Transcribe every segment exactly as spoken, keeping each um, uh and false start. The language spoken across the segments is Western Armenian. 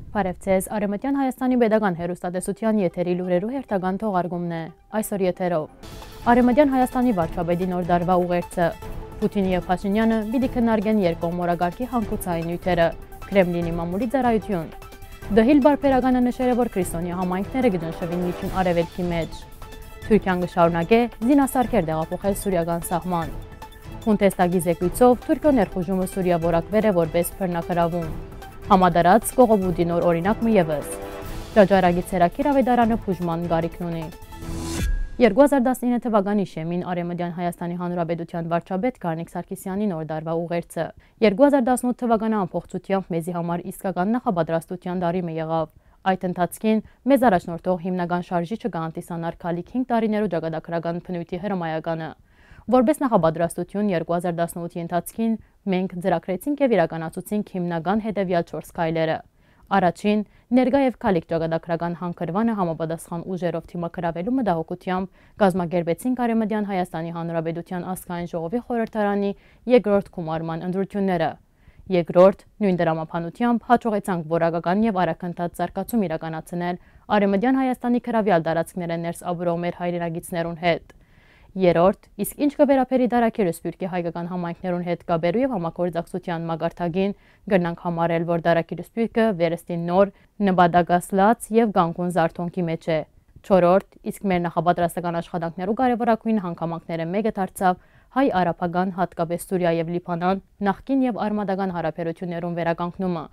Բարև ձեզ, Արեւմտեան Հայաստանի պետական հեռուստատեսութեան եթերի լուրերու հերթական թողարկումն է այսօր եթերով։ Արեւմտեան Հայաստանի վարչապետի նոր տարուայ ուղերձը։ Պուտինը եւ Փաշինեանը պիտի քննարկեն երկկողմ օրակարգի հանգուցային նիւթերը։ Քրեմլինի մամուլի ծառայութիւն։ Դհիլ Բարբերականը նշեր է, որ քրիստոնեայ համայնքները կը ճնշուին Միջին Արեւելքի մէջ։ Թուրքիան կը շարունակէ զինասարքեր տեղափոխել սուրիական սահման։ Բունդեստագի զեկոյցով Թուրքիոյ ներխուժումը Սուրիա որակուեր է որպէս բռնագրաւում։ Համատարած կողոպուտի նոր օրինակ մը եւս։ Ճաճարակի ցերակիր աւետարանը բուժման կարիքն ունի։ Երկու հազար տասնինը թուականի շեմին Արեւմտեան Հայաստանի Հանրապետութեան վարչապետ Գառնիկ Սարգսեանի նոր տարուայ ուղերձը։ Երկու հազար տասնութ թուականը ամբողջությամբ մեզի համար իսկական նախապատրաստութեան տարի մը եղաւ։ Այդ ընթացքին մեզ առաջնորդող հիմնական շարժիչը կը հանդիսանար գալիք հինգ տարիներու ճակատագրական բնոյթի հրամայականը։ Որպէս նախապատրաստութիւն երկու հազար տասնութի ընթացքին մենք ծրագրեցինք եւ իրականացուցինք հիմնական հետեւեալ չորս քայլերը։ Առաջին, ներկայ եւ գալիք ճակատագրական հանգրուանը համապատասխան ուժերով դիմագրաւելու մտահոգութեամբ կազմակերպեցինք Արեւմտեան Հայաստանի Հանրապետութեան ազգային ժողովի խորհրդարանի երկրորդ գումարման ընտրութիւնները։ Երկրորդ, նոյն տրամաբանությամբ յաջողեցանք որակական եւ արագընթաց զարգացում իրականացնել Արեւմտեան Հայաստանի գրաւեալ տարածքներէն ներս ապրող մեր հայրենակիցներուն հետ։ Երրորդ, իսկ ինչ կը վերաբերի Դարակիրը Սփիւռքի հայկական համայնքներուն հետ կապերու եւ համագործակցութեան մակարդակին, կրնանք համարել, որ Դարակիրը Սփիւռքը վերստին նոր, նպատակասլաց եւ կանգուն զարթոնքի մէջ է։ Չորրորդ, իսկ մեր նախապատրաստական աշխատանքներու կարեւորագոյն հանգամանքներէն մէկը դարձաւ հայ արաբական, յատկապէս Սուրիա եւ Լիբանան, նախկին եւ արմատական հարաբերութիւններուն վերականգնումը,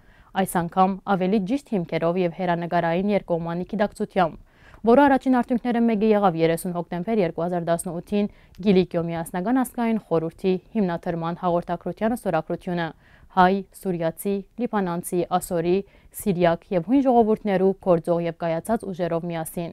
այս անգամ աւելի ճիշդ հիմքերով եւ հեռանկարային երկկողմանի գիտակցութեամբ, որու առաջին արդիւնքներէն մէկը եղաւ երեսուն հոկտեմբեր երկու հազար տասնութին Կիլիկիոյ միասնական ազգային խորհուրդի հիմնադրման հաղորդագրութեան ստորագրութիւնը հայ, սուրիացի, լիբանանցի, ասորի, սիրիակ եւ յոյն ժողովուրդներու գործող եւ կայացած ուժերով միասին։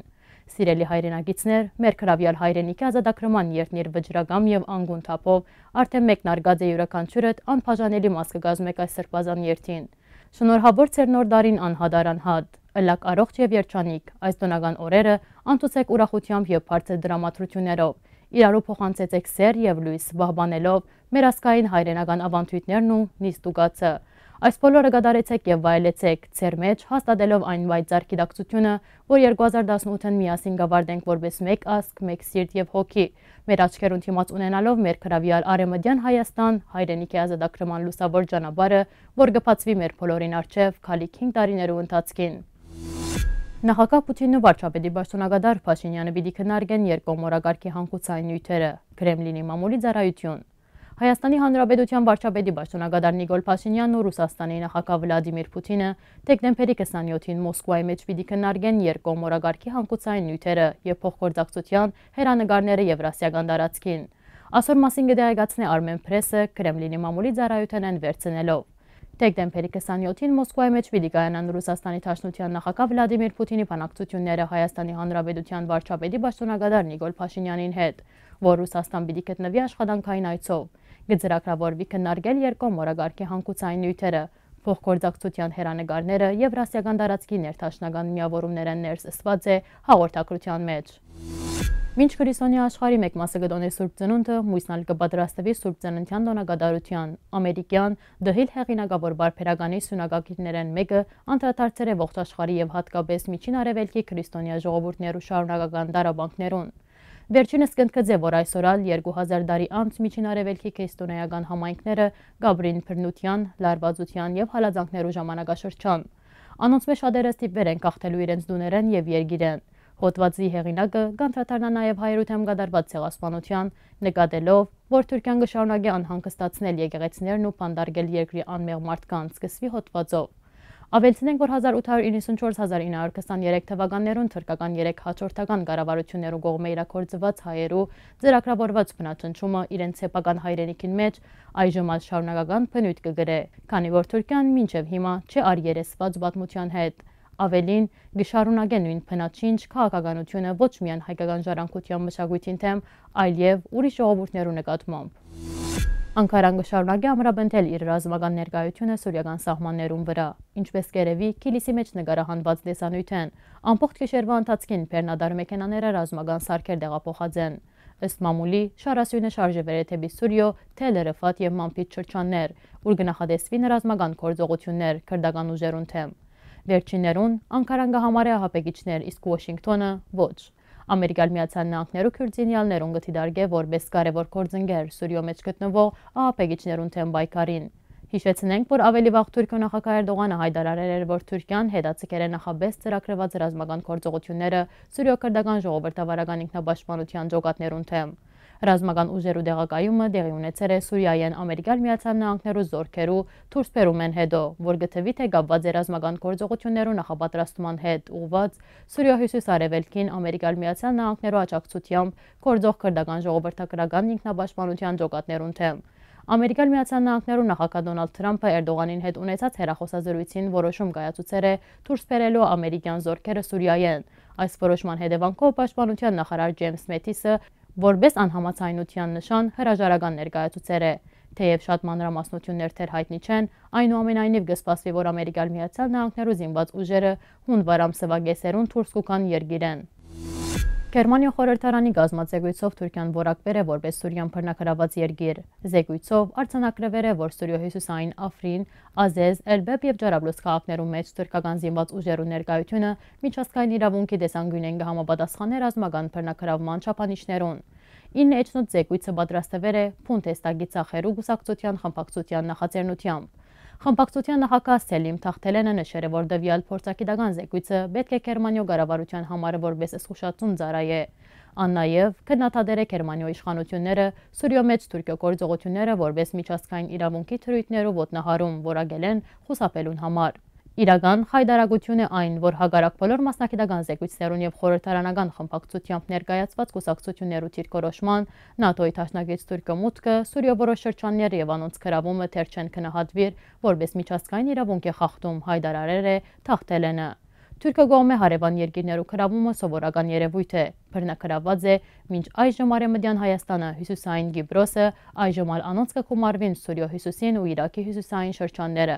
Սիրելի հայրենակիցներ, մեր գրաւեալ հայրենիքի ազատագրման երթնիր վճռակամ եւ անգուն թափով արդէն մեկնարկած է, իւրաքանչիւրդ անբաժանելի մաս կը կազմէք այս սրբազան երթին։ Շնորհաւոր ձեր նոր տարին անհատար անհատ, ըլլաք առողջ եւ երջանիկ, այս տօնական օրերը անցուցէք ուրախութեամբ եւ բարձր տրամադրութիւններով, իրարու փոխանցեցէք սէր եւ լոյս, պահպանելով մեր ազգային հայրենական աւանդոյթներն ու նիստուկացը։ Այս բոլորը կատարեցէք եւ վայելեցէք ձեր մէջ, հաստատելով այն պայծառ գիտակցութիւնը, որ երկու հազար տասնութ միասին կ'աւարտենք որպէս մէկ ազգ, մէկ սիրտ եւ հոգի, մեր աչքերուն դիմաց ունենալով մեր գրաւեալ Արեւմտեան Հայաստան, հայրենիքի ազատագրման լուսաւոր ճանապարհը, որ կը բացուի մեր բոլորին առջեւ գալիք հինգ տարիներու ընթացքին։ Նախագահ Պուտինն ու վարչապետի պաշտօնակատար Փաշինեանը պիտի քննարկեն երկկողմ օրակարգի հանգուցային նիւթերը, Քրեմլինի մամուլի ծառայութիւն։ Հայաստանի Հանրապետութեան վարչապետի պաշտօնակատար Նիկոլ Փաշինեանն ու Ռուսաստանի նախագահ Վլադիմիր Պուտինը դեկտեմբերի քսանյոթին Մոսկուայի մէջ պիտի քննարկեն երկկողմ օրակարգի հանգուցային նիւթերը եւ փոխգործակցութեան հեռանկարները Եվրասիական տարածքին։ Ասոր մասին կը տեղեկացնէ Արմեն Պրեսը, Քրեմլինի մամուլի ծառայութենէն վերցնելով։ Դեկտեմբերի քսանյոթին Մոսկուայի մէջ պիտի կայանան Ռուսաստանի Դաշնութեան նախագահ Վլադիմիր Պուտինի բանակցութիւնները Հայաստանի Հանրապետութեան վարչապետի պաշտօնակատար Նիկոլ Փաշինեանին հետ, որ Ռուսաստան պիտի գտնուի աշխատանքային այցով։ Կը ծրագրաւորուի քննարկել երկկողմ օրակարգի հանգուցային նիւթերը, փոխգործակցութեան հեռանկարները, Եվրասիական տարածքի ներդաշնական միաւորումներէն ներս ըսուած է հաղորդագրութեան մէջ։ Մինչ քրիստոնեայ աշխարհի մէկ մասը կը տօնէ Սուրբ Ծնունդը, մոյսն ալ կը պատրաստուի Սուրբ Ծննդեան տօնակատարութեան։ Ամերիկեան Դհիլ հեղինակաւոր պարբերականի սիւնակագիրներէն մէկը անդրադարձեր է ողջ աշխարհի եւ յատկապէս Միջին Արեւելքի քրիստոնեայ ժողովուրդներու շարունակական տառապանքներուն։ Վերջինս կ'ընդգծէ, որ այսօր ալ երկու հազար տարի անց Միջին Արեւելքի քրիստոնէական համայնքները կ'ապրին բռնութեան, լարուածութեան եւ հալածանքներու ժամանակաշրջան։ Անոնցմէ շատերը ստիպուեր են գաղթելու իրենց տուներէն եւ երկիրէն։ Հոդուածի հեղինակը կանդրադառնայ նաեւ հայերու դէմ կատարուած ցեղասպանութեան, նկատելով, որ Թուրքիան կը շարունակէ անհանգստացնել եկեղեցիներն ու բանտարկել երկրի անմեղ մարդկանց, սկսուի հոդուածով։ Աւելցնենք, որ հազար ութ հարյուր իննսունչորս, հազար ինը հարյուր քսաներեք թուականներուն թրքական երեք հաջորդական կառավարութիւններու կողմէ իրագործուած հայերու ծրագրաւորուած բնաճնշումը իրենց սեփական հայրենիքին մէջ այժմ ալ շարունակական բնոյթ կը կրէ, քանի որ Թուրքիան մինչեւ հիմա չի առերեսուած պատմութեան հետ։ Աւելին, կը շարունակէ նոյն բնաճինջ քաղաքականութիւնը ոչ միայն հայկական ժառանգութեան մշակոյթին դէմ, այլեւ ուրիշ ժողովուրդներու նկատմամբ։ Անկարան կը շարունակէ ամրապնդել իր ռազմական ներկայութիւնը սուրիական սահմաններուն վրայ, ինչպէս կ'երեւի Քիլիսի մէջ նկարահանուած տեսանիւթէն։ Ամբողջ գիշերուայ ընթացքին բեռնատար մեքենաները ռազմական սարքեր տեղափոխած են։ Ըստ մամուլի, շարասիւնը շարժուեր է դէպի Սուրիոյ, Թել Ռֆատ եւ Մանբիջ շրջաններ, ուր կը նախատեսուին ռազմական գործողութիւններ քրտական ուժերուն դէմ։ Վերջիններուն Անկարան կը համարէ ահաբեկիչներ, իսկ Ուոշինկթոնը՝ ոչ։ Ամերիկայի Միացյալ Նահանգներու քիւրտ զինեալներուն կը դիտարկէ որպէս կարեւոր գործընկեր Սուրիոյ մէջ գտնուող ահաբեկիչներուն դէմ պայքարին։ Յիշեցնենք, որ աւելի վաղ Թուրքիոյ նախագահ Էրտողանը յայտարարեր էր, որ Թուրքիան հետաձգեր է նախապէս ծրագրուած ռազմական գործողութիւնները Սուրիոյ քրտական ժողովրդավարական ինքնապաշտպանութեան ջոկատներուն դէմ։ Ռազմական ուժերու տեղակայումը տեղի ունեցեր է Սուրիայէն Ամերիկայի Միացյալ Նահանգներու զօրքերու դուրսբերումէն յետոյ, որ կը թուի թէ կապուած է ռազմական գործողութիւններու նախապատրաստման հետ ուղղուած Սուրիոյ հիւսիս-արեւելքին Ամերիկայի Միացյալ Նահանգներու աջակցութեամբ գործող քրտական ժողովրդագրական ինքնապաշտպանութեան ջոկատներուն դէմ։ Ամերիկայի Միացյալ Նահանգներու նախագահ Դոնալդ Թրամփը Էրտողանին հետ ունեցած հեռախօսազրոյցին որոշում կայացուցեր է դուրս բերելու ամերիկեան զօրքերը Սուրիայէն։ Այս որոշման հետեւանքով պաշտպանութեան նախարար Ջեյմս Մետիսը որպէս անհամաձայնութեան նշան հրաժարական ներկայացուցեր է։ Թէեւ շատ մանրամասնութիւններ դեռ յայտնի չեն, այնուամենայնիւ կը սպասուի, որ Ամերիկայի Միացյալ Նահանգներու զինուած ուժերը հունուար ամսուայ կէսերուն դուրս կու գան երկիրէն։ Գերմանիոյ խորհրդարանի կազմած զեկոյցով Թուրքիան որակուեր է որպէս Սուրիան բռնագրաւած երկիր։ Զեկոյցով արձանագրուեր է, որ Սուրիոյ հիւսիսային افرین، عزیز، Elbeb եւ Ջարաբլուս քաղաքներու մէջ թուրքական զինուած ուժերու ներկայութիւնը միջազգային իրաւունքի տեսանկիւնէն կը համապատասխանէ ռազմական բռնագրաւման չափանիշներուն։ Իննը էջնոց զեկոյցը պատրաստուեր է Բունդեստագի Ձախերու կուսակցութեան խմբակցութեան նախաձեռնութեամբ։ Խմբակցութեան նախագահ Սելիմ Թախթելենը նշեր է, որ տուեալ փորձագիտական զեկոյցը պէտք է Գերմանիոյ կառավարութեան համար որպէս զգուշացում ծառայէ։ Ան նաեւ քննադատեր է Գերմանիոյ իշխանութիւնները Սուրիոյ մէջ Թուրքիոյ գործողութիւնները որպէս միջազգային իրաւունքի դրոյթներու ոտնահարում որակելէն խուսափելուն համար։ Իրական խայտարակութիւն է այն, որ հակառակ բոլոր մասնագիտական զեկոյցներուն եւ խորհրդարանական խմբակցութեամբ ներկայացուած կուսակցութիւններու դիրքորոշման, նատօ-ի դաշնակից Թուրքիոյ մուտքը Սուրիոյ որոշ շրջաններ եւ անոնց գրաւումը դեռ չեն գնահատուիր որպէս միջազգային իրաւունքի խախտում, յայտարարեր է Թախթելենը։ Թուրքիոյ կողմէ հարեւան երկիրներու գրաւումը սովորական երեւոյթ է, բռնագրաւուած է մինչ այժմ Արեւմտեան Հայաստանը, Հիւսիսային Կիպրոսը, այժմ ալ անոնց կը գումարուին Սուրիոյ հիւսիսին ու Իրաքի հիւսիսային շրջանները։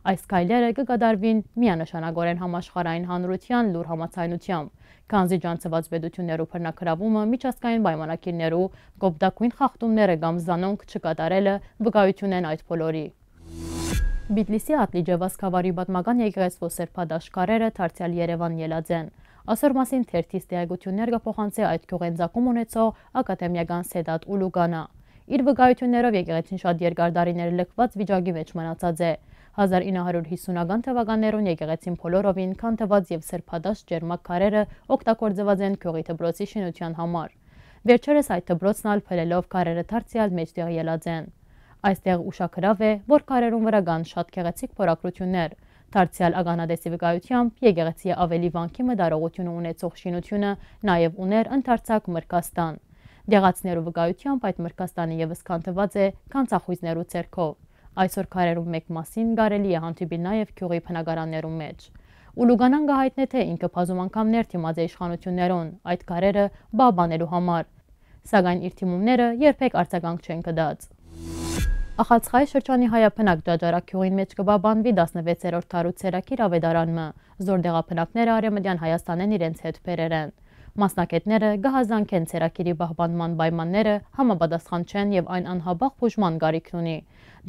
Այս քայլերը կը կատարուին միանշանակօրէն համաշխարհային հանրութեան լուռ համաձայնութեամբ, քանզի ջանցուած պետութիւններու բռնագրաւումը, միջազգային պայմանագիրներու կոպտագոյն խախտումները կամ զանոնք չկատարելը վկայութիւն են այդ բոլորի։ Բիթլիսի Ատլիճե Վասկավարի պատմական եկեղեցւոյ սրբատաշ քարերը դարձեալ Երեւան ելած են։ Ասոր մասին թերթիս տեղեկութիւններ կը փոխանցէ այդ գիւղէն ծագում ունեցող ակադեմիական Սեդատ Ուլուգանա։ Իր վկայութիւններով եկեղեցին շատ երկար տարիներ լքուած վիճակի մէջ մնացած է։ Հազար ինը հարիւր հիսունական թուականներուն եկեղեցին բոլորովին քանդուած եւ սրբատաշ ջերմակ քարերը օգտագործուած են գիւղի դպրոցի շինութեան համար։ Վերջերս այդ դպրոցն ալ փլելով քարերը դարձեալ մէջտեղ ելած են։ Այստեղ ուշագրաւ է, որ քարերուն վրայ կան շատ գեղեցիկ փորագրութիւններ։ Դարձեալ ականատեսի վկայութեամբ, եկեղեցի աւելի վանքի մտարողութիւնը ունեցող շինութիւնը նաեւ ունէր ընդարձակ մրգաստան։ Դեղացիներու վկայութեամբ, այդ մրգաստանը եւս քանդուած է գանձախոյզներու ձեռքով։ Այսօր քարերուն մէկ մասին կարելի է հանդիպիլ նաեւ գիւղի բնակարաններուն մէջ։ Ուլուգանան կը յայտնէ, թէ ինքը բազում անգամներ դիմած է իշխանութիւններուն՝ այդ քարերը պահպանելու համար, սակայն իր դիմումները երբեք արձագանք չեն գտած։ Ախալցխայի շրջանի Հայաբնակ Ճաճարակ գիւղին մէջ կը պահպանուի տասնվեցերորդ դարու ցերակիր աւետարան մը, զոր տեղաբնակները Արեւմտեան Հայաստանէն իրենց հետ բերեր են։ Մասնագէտները կը հազանգեն ցերակիրի պահպանման պայմանները համապատասխան չեն եւ այն անհապաղ բուժման կարիքն ունի։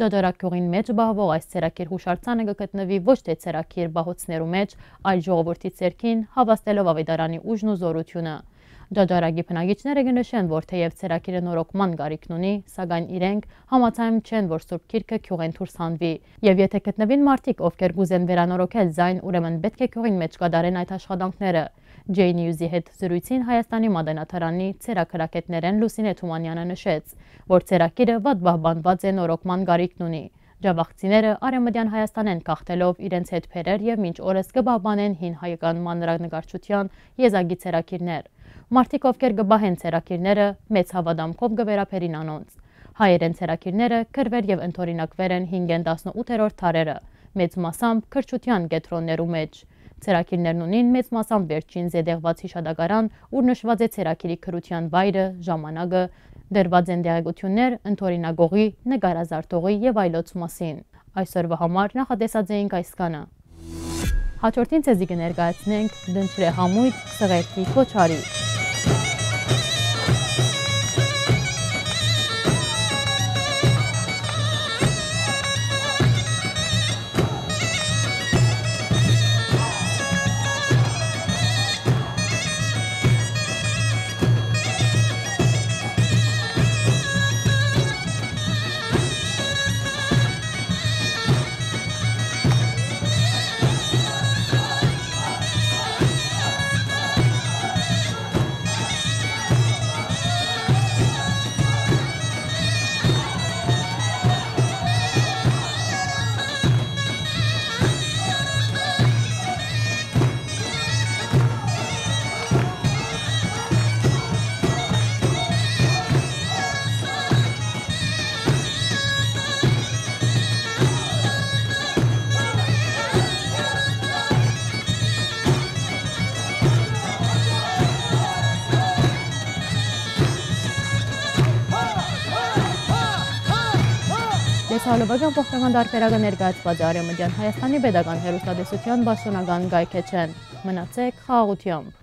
Ճաճարակ գիւղին մէջ պահուող այս ցերակիր յուշարձանը կը գտնուի ոչ թէ ցերակիր պահոցներու մէջ, այլ ժողովուրդի ձեռքին, հաւաստելով աւետարանի ուժն ու զօրութիւնը։ Ճաճարակի բնակիչները կը նշեն, որ թէեւ ցերակիրը նորոգման կարիքն ունի, սակայն իրենք համաձայն չեն, որ Սուրբ Գիրքը գիւղէն դուրս հանուի։ Եւ եթէ գտնուին մարդիկ, ովքեր կ'ուզեն վերանորոգել զայն, ուրեմն պէտք է գիւղին մէջ կատարեն այդ աշխատանքները։ J News-ի հետ զրոյցին Հայաստանի մատենադարանի ցերակրագէտներէն Լուսինե Թումանյանը նշեց, որ ցերակիրը վատ պահպանուած է նորոգման կարիքն ունի։ Ջաւախցիները Արեւմտեան Հայաստանէն գաղթելով իրենց հետ բերեր եւ մինչ օրս կը պահպանեն հին հայկական մանրանկարչութեան եզակի ցերակիրներ։ Մարդիկ, ովքեր կը պահեն ցերակիրները, մեծ հաւատամքով կը վերաբերին անոնց։ Հայերէն ցերակիրները կռուեր եւ ընդօրինակուեր են հինգէն տասնութերորդ դարերը, մեծ մասամբ կրթութեան կեդրոններու մէջ։ Ցերակիրներն ունին մեծ մասամբ վերջին զետեղուած յիշատակարան, ուր նշուած է ցերակիրի կրթութեան վայրը, ժամանակը, դրուած են տեղեկութիւններ ընդօրինակողի, նկարազարդողի եւ այլոց մասին։ Այսօրվա համար նախատեսած էինք այսքանը։ Հաջորդին ձեզի կը ներկայացնենք Դնչրե համույթ, Սղերդի Քոչարի։ Լեզհալովակեան ողջական տարբերակը ներկայացուած է Արեւմտեան Հայաստանի պետական հեռուստատեսութեան պաշտօնական կայքէջէն։ Մնացէք խաղաղութեամբ։